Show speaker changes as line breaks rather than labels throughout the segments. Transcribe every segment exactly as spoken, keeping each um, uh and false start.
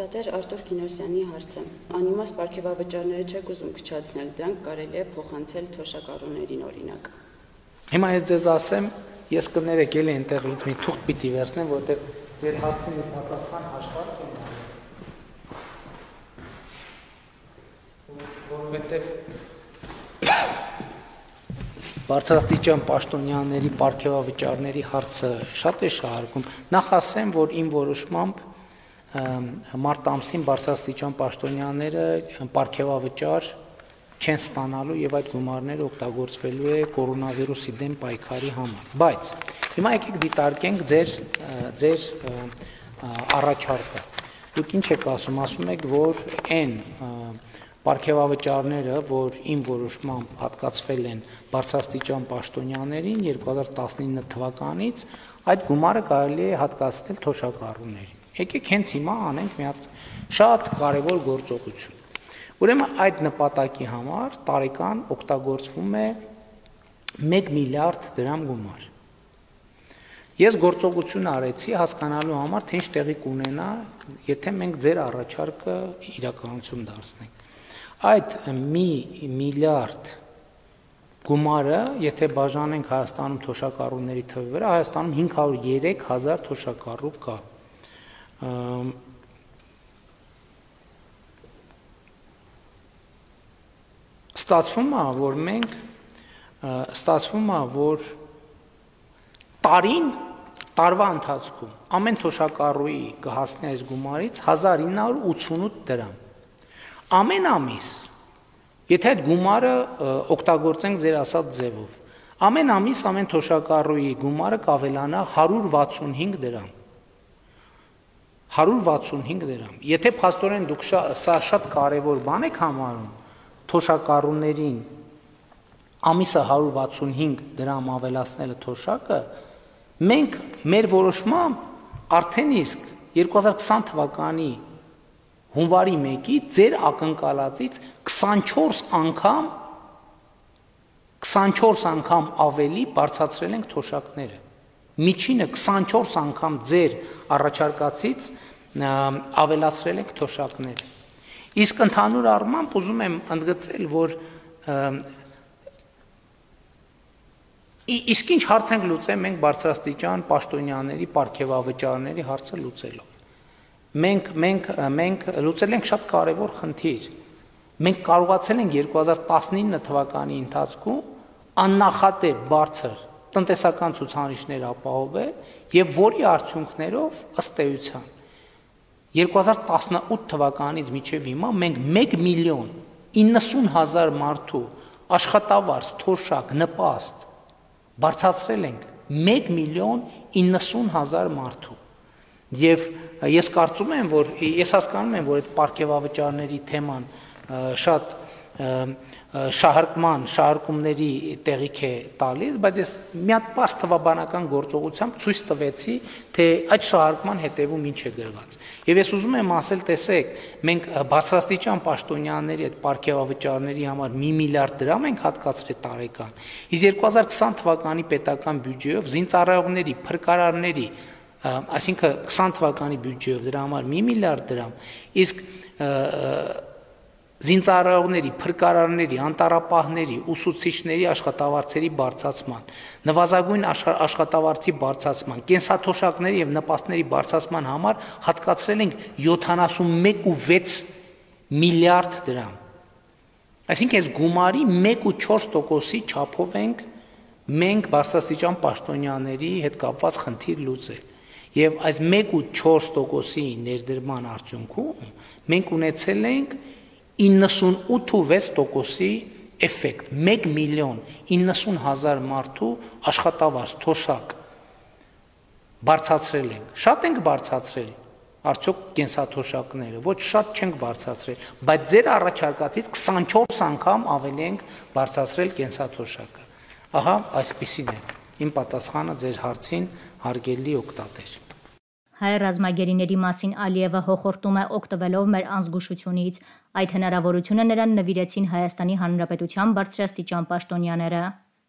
Օգտատեր Արտուր Կինոսյանի հարցը։ Անիմաստ պարգևավճարները չեք ուզում քչացնել, դրանք կարելի է փոխանցել թոշակառուներին օրինակ։
Հիմա ես ձեզ ասեմ, ես կներեք էլի այնտեղից մի թուղթ պիտի վերցնեմ, որտեղ ձեր հարցին պատասխան հաշվարկ եմ որովհետև բարձրաստիճան պաշտոնյաների պարգևավճարների հարցը շատ է շահարկում։ Նախ ասեմ, որ իմ որոշմամբ մարտ ամսին բարձրաստիճան պաշտոնյաները պարգևավճար չեն ստանալու եւ այդ գումարները օգտագործվելու է կորոնավիրուսի դեմ պայքարի համար։ Բայց հիմա եկեք դիտարկենք ձեր ձեր առաջարկը։ Դուք ինչ եք ասում, ասում եք, որ այն պարգևավճարները, որ իմ որոշմամբ հատկացվել են բարձրաստիճան պաշտոնյաներին երկու հազար տասնինը թվականից, այդ գումարը կարելի է հատկացնել թոշակառուներին։ Եկեք հենց հիմա անենք մի հատ շատ կարևոր գործողություն։ Ուրեմն այդ նպատակի համար տարեկան օգտագործվում է մեկ միլիարդ դրամ գումար։ Ես գործողություն արեցի հասկանալու համար, թե ինչ տեղի կունենա, եթե մենք ձեր առաջարկը իրականություն դարձնենք։ Այդ մի միլիարդ գումարը, եթե բաժանենք Հայաստանում թոշակառուների թվի վրա, Հայաստանում հինգ հարյուր ու երեք հազար թոշակառու կա։ Ստացվում է, որ մենք ստացվում է, որ տարին տարվա ընթացքում ամեն թոշակառուի կհասնի այս գումարից հազար ինը հարյուր ու ութսունութ դրամ։ Ամեն ամիս, եթե այդ գումարը օգտագործենք ձեր ասած ձևով, ամեն ամիս ամեն թոշակառուի գումարը կավելանա հարյուր վաթսունհինգ դրամ։ հարյուր վաթսունհինգ դրամ։ Եթե փաստորեն դուք սա շատ կարևոր բան եք համարում, թոշակառուներին ամիսը հարյուր վաթսունհինգ դրամ ավելացնելը թոշակը, մենք մեր որոշմամբ արդեն իսկ երկու հազար քսան թվականի հունվարի մեկից ձեր ակնկալածից քսանչորս անգամ քսանչորս անգամ ավելի բարձրացրել ենք թոշակները։ Միջինը քսանչորս անգամ ձեր առաջարկածից ավելացրել ենք թոշակները։ Իսկ ընդհանուր առմամբ ուզում եմ ընդգծել, որ իսկ ինչ հարց ենք լուծել մենք բարձրաստիճան պաշտոնյաների պարգևավճարների հարցը լուծելով։ Մենք մենք մենք լուծել ենք շատ կարևոր խնդիր։ Մենք կարողացել ենք երկու հազար տասնինը թվականի ընթացքում աննախադեպ բարձր տնտեսական ցուցանիշներ ապահովել եւ որի արդյունքներով ըստ էության երկու հազար տասնութ թվականից մինչեւ հիմա մենք մեկ միլիոն իննսուն հազար մարդու աշխատավարձ, թոշակ, նպաստ բարձրացրել ենք մեկ միլիոն իննսուն հազար մարդու։ Եվ ես կարծում եմ, որ ես հասկանում եմ, որ այդ պարգևավճարների թեման շատ շահարկման, շահարկումների տեղիք է տալիս, բայց ես մի հատ պարզ թվաբանական գործողությամբ ցույց տվեցի, թե այդ շահարկման հետևում ինչ է գրված։ Եվ ես ուզում եմ ասել, տեսեք, մենք բարձրաստիճան պաշտոնյաների այդ պարգևավճարների համար մի միլիարդ դրամ ենք հատկացրել տարեկան։ Իսկ երկու հազար քսան թվականի պետական բյուջեով զինծառայողների, փրկարարների, այսինքն քսան թվականի բյուջեով դրա համար մի միլիարդ դրամ, իսկ զինծառայողների, փրկարարների, անտառապահների, ուսուցիչների աշխատավարձերի բարձրացման, նվազագույն աշխատավարձի բարձրացման, կենսաթոշակների եւ նպաստների բարձրացման համար հատկացրել ենք յոթանասունմեկ ու վեց միլիարդ դրամ։ Այսինքն այս գումարի մեկ ու չորս տոկոսի չափով ենք մենք բարձրաստիճան պաշտոնյաների հետ կապված խնդիր լուծել։ Եվ այս մեկ ու չորս տոկոսի ներդրման արդյունքում մենք ունեցել ենք իննսունութ ու վեց տոկոսի էֆեկտ, մեկ միլիոն իննսուն հազար մարդու աշխատավարձ, թոշակ բարձրացրել ենք։ Շատ ենք բարձրացրել, արդյոք կենսաթոշակները, ոչ շատ չենք բարձրացրել, բայց ձեր առաջարկածից քսանչորս անգամ ավելի ենք բարձրացրել կենսաթոշակը։ Ահա այսպիսին է իմ պատասխանը ձեր հարցին, հարգելի օգտատեր։
Հայ ռազմագերիների մասին Ալիևը հոխորտում է օգտվելով մեր անզգուշությունից։ Այդ հնարավորությունը նրան նվիրեցին Հայաստանի Հանրապետության բարձրաստիճան պաշտոնյաները։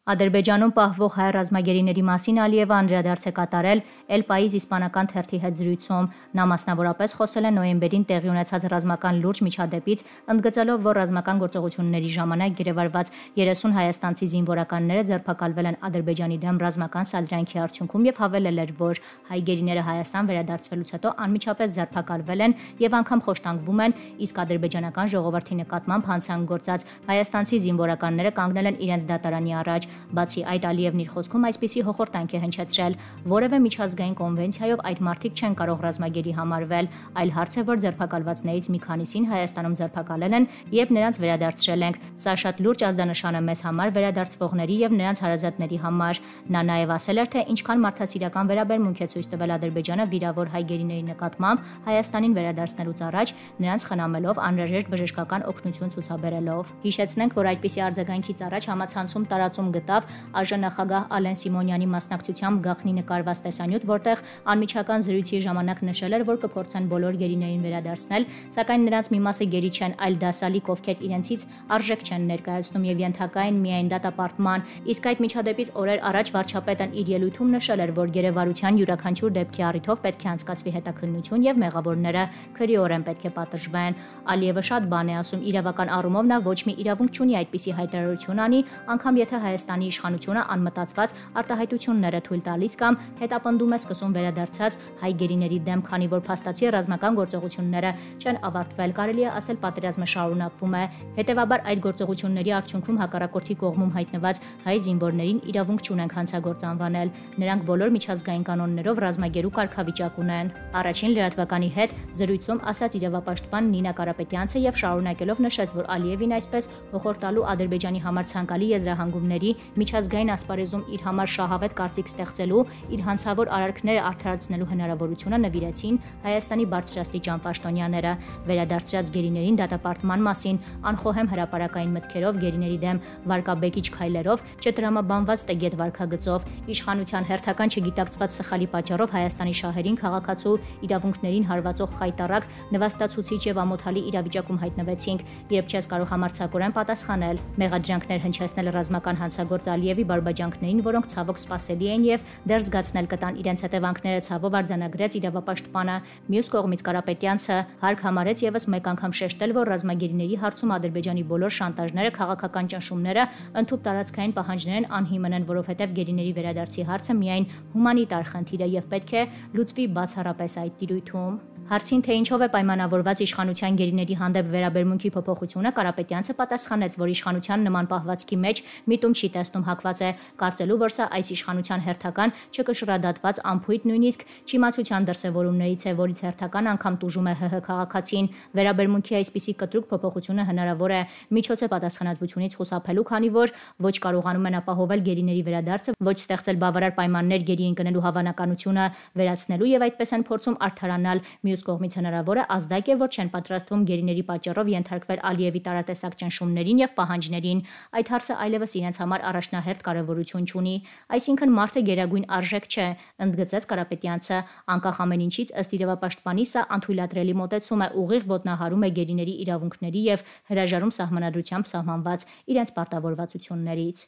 Ադրբեջանում պահվող հայ ռազմագերիների մասին Ալիևը անդրադարձ է կատարել El País իսպանական թերթի հետ զրույցում։ Նա մասնավորապես խոսել է նոյեմբերին տեղի ունեցած ռազմական լուրջ միջադեպից, ընդգծելով, որ ռազմական գործողությունների ժամանակ գերեվարված երեսուն հայաստանցի զինվորականները ձերբակալվել են Ադրբեջանի դեմ ռազմական սադրանքի արդյունքում եւ հավելել էր, որ հայ գերիները Հայաստան վերադարձվելուց հետո անմիջապես ձերբակալվել են եւ անգամ խոշտանգվում են, իսկ ադրբեջանական ժողովրդի նկատմամբ հանցանք գործած հայաստանցի զինվորականները կանգնել են իրենց դատարանի առաջ։ Բացի այդ, Ալիևն իր խոսքում այսպիսի հոխորտանք է հնչեցրել, որևէ միջազգային կոնվենցիայով այդ մարդիկ չեն կարող ռազմագերի համարվել, այլ հարց է, որ ձերբակալվածներից մի քանիսին Հայաստանում ձերբակալել են, երբ նրանց վերադարձրել ենք։ Սա շատ լուրջ ազդանշան է մեզ համար, վերադարձվողների եւ նրանց հարազատների համար։ Նա նաեւ ասել էր, թե ինչքան մարդասիրական վերաբերմունք է ցույց տվել Ադրբեջանը վիրավոր հայ գերիների նկատմամբ Հայաստանին վերադարձնելուց առաջ, նրանց խնամելով, անհրաժեշտ բժշկական օգնություն ցուցաբերելով։ Հիշեցնենք, որ այդպիսի արձագանքից առաջ համացանցում տարածում գտավ ԱԺ նախագահ Ալեն Սիմոնյանի մասնակցությամբ գաղտնի նկարված տեսանյութ, որտեղ անմիջական զրույցի ժամանակ նշել էր, որ կփորձեն բոլոր գերիներին վերադարձնել, սակայն նրանց մի մասը գերի չեն, այլ դասալիկ, ովքեր իրենցից արժեք չեն ներկայացնում եւ ենթակա են միայն դատապարտման։ Իսկ այդ միջադեպից օրեր առաջ վարչապետն իր ելույթում նշել էր, որ գերեվարության յուրաքանչյուր դեպքի առիթով պետք է անցկացվի հետաքննություն եւ մեղավորները քրեորեն պետք է պատժվեն։ Ալիևը շատ բան է ասում, իրավական առումով նա ոչ մի իրավունք չունի այդպիսի հայտարարություն անի, անգամ եթե Հայաստանի իշխանությունը անմտածված արտահայտություններ է թույլ տալիս կամ հետապնդում է սկսում վերադարձած հայ գերիների դեմ, քանի որ փաստացի ռազմական գործողությունները չեն ավարտվել, կարելի է ասել պատերազմը շարունակվում է։ Հետևաբար այդ գործողությունների արդյունքում հակառակորդի կողմում հայտնված հայ զինվորներին իրավունք չունեն հանցագործ անվանել։ Նրանք բոլոր միջազգային կանոններով ռազմագերու կարգավիճակ ունեն։ Առաջին լրատվականի հետ զրույցում ասաց իրավապաշտպան Նինա Կարապետյանցը եւ շարունակելով նշեց, որ Ալիևին այսպես հոխորտալու Ադրբեջանի համար ցանկալի եզրահանգումների միջազգային ասպարեզում իր համար շահավետ կարծիք ստեղծելու, իր հանցավոր արարքները արդարացնելու հնարավորությունը նվիրեցին Հայաստանի բարձրաստիճան պաշտոնյաները։ Վերադարձած գերիներին դատապարտման մասին անխոհեմ հրապարակային մտքերով, գերիների դեմ վարկաբեկիչ քայլերով, չտրամաբանված տգետ վարքագծով, իշխանության հերթական չգիտակցված սխալի պատճառով Հայաստանի շահերին, քաղաքացու իրավունքներին հարվածող խայտառակ, նվաստացուցիչ եւ ամոթալի իրավիճակում հայտնվեցինք, երբ չես կարող համարձակորեն պատասխանել, մեղադրանքներ հնչեցնել ռազմական հանցագործ Ալիևի բարբաջանքներին, որոնք ցավոք սպասելի են եւ դեռ զգացնել կտան իրենց հետևանքները, ցավով արձանագրեց իրավապաշտպանը։ Մյուս կողմից Կարապետյանցը հարկ համարեց եւս մեկ անգամ շեշտել, որ ռազմագերիների հարցում Ադրբեջանի բոլոր շանտաժները, քաղաքական ճնշումները, ընդհանուր տարածքային պահանջներ են անհիմն են, որովհետեւ գերիների վերադարձի հարցը միայն հումանիտար խնդիր է եւ պետք է լուծվի բացառապես այդ տիրույթում։ Հարցին, թե ինչով է պայմանավորված իշխանության գերիների հանդեպ վերաբերմունքի փոփոխությունը, Կարապետյանցը պատասխանեց, որ իշխանության նման պահվածքի մեջ միտում չի տեսնում, հակված է կարծելու, որ սա այս իշխանության հերթական չկշռադատված ամփույթ նույնիսկ չիմացության դրսևորումներից է, որից հերթական անգամ տուժում է ՀՀ քաղաքացին։ Վերաբերմունքի այսպիսի կտրուկ փոփոխությունը հնարավոր է միջոց է պատասխանատվությունից խուսափելու, քանի որ ոչ կարողանում են ապահովել գերիների վերադարձը, ոչ ստեղծել բավարար պայմաններ գերի ընկնելու հավանականությունը վերացնելու եւ այդպես են փորձում արդարանալ։ Մյուս կողմից հնարավոր է ազդակ է, որ չեն պատրաստվում գերիների պատճառով ենթարկվել Ալիևի տարատեսակ ճնշումներին եւ պահանջներին։ Այդ հարցը այլևս իրենց համար առաջնահերթ կարեւորություն չունի, այսինքն մարդը գերագույն արժեք չէ, ընդգծեց Կարապետյանցը։ Անկախ ամեն ինչից, ըստ իրավապաշտպանի, սա անթույլատրելի մոտեցում է, ուղիղ ոտնահարում է գերիների իրավունքների եւ հրաժարում սահմանադրությամբ սահմանված իրենց պարտավորվածություններից։